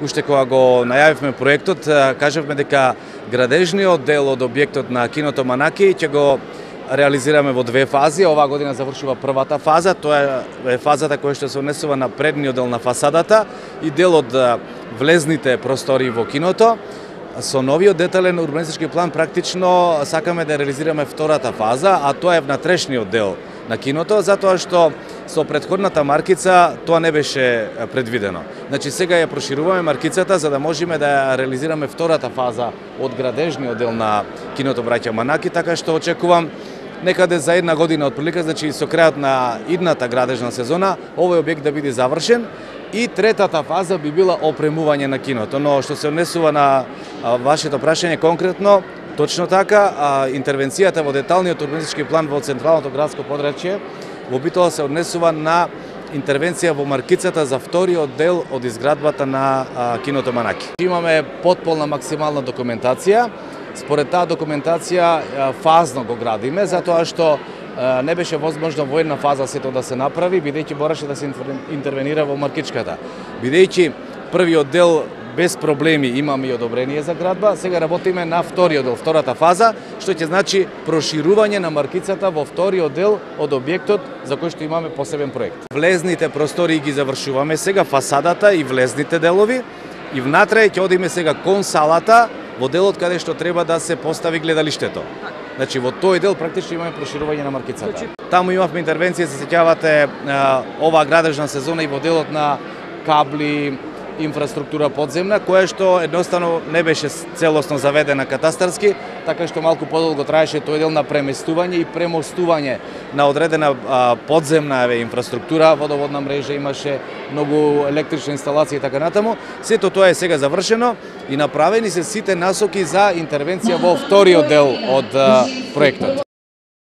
уште кога го најавивме проектот, кажавме дека градежниот дел од објектот на киното Манаки ќе го реализираме во две фази. Оваа година завршува првата фаза, тоа е фазата која што се однесува на предниот дел на фасадата и дел од влезните простори во киното. Со новиот детален урбанистички план практично сакаме да реализираме втората фаза, а тоа е внатрешниот дел на киното, затоа што со претходната маркица тоа не беше предвидено. Значи сега ја прошируваме маркицата за да можеме да реализираме втората фаза од градежниот дел на киното Браќа Манаки, така што очекувам некаде за една година отприлика, значи со крајот на идната градежна сезона, овој објект да биде завршен. И третата фаза би била опремување на киното, но што се однесува на вашето прашање конкретно, точно така, интервенцијата во деталниот урбанистички план во централното градско подрачје во битола се однесува на интервенција во маркицата за вториот дел од изградбата на киното Манаки. Имаме потполна максимална документација. Според таа документација фазно го градиме, затоа што не беше возможно во една фаза сето да се направи, бидејќи мораше да се интервенира во маркичката. Бидејќи првиот дел без проблеми имаме и одобрение за градба, сега работиме на вториот дел, втората фаза, што ќе значи проширување на маркицата во вториот дел од објектот за кој што имаме посебен проект. Влезните простори ги завршуваме сега, фасадата и влезните делови, и внатре ќе одиме сега кон салата, во делот каде што треба да се постави гледалиштето. Значи во тој дел практично имаме проширување на маркицата. Таму имавме интервенција, се сеќавате, оваа градежна сезона и во делот на кабли, инфраструктура подземна, која што едноставно не беше целосно заведена катастарски, така што малку подолго траеше тој дел на преместување и премостување на одредена подземна инфраструктура, водоводна мрежа, имаше многу електрични инсталации и така натаму. Сето тоа е сега завршено и направени се сите насоки за интервенција во вториот дел од проектот.